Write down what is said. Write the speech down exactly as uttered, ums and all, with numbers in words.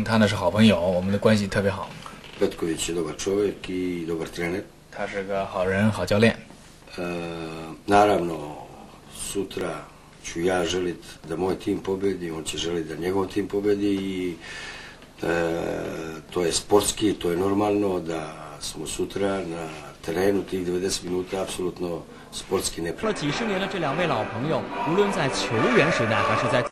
他呢是好朋友，我们的关系特别好。 Petković je dobar čovjek i dobar trener. 他是个好人，好教练。 E, naravno, sutra ću ja želiti da moj tim pobedi, on će želiti da njegov tim pobedi i e, to je sportski, to je normalno da smo sutra na terenu tih devedeset minuta apsolutno sportski nepravilno. 了几十年的这两位老朋友，无论在球员时代还是在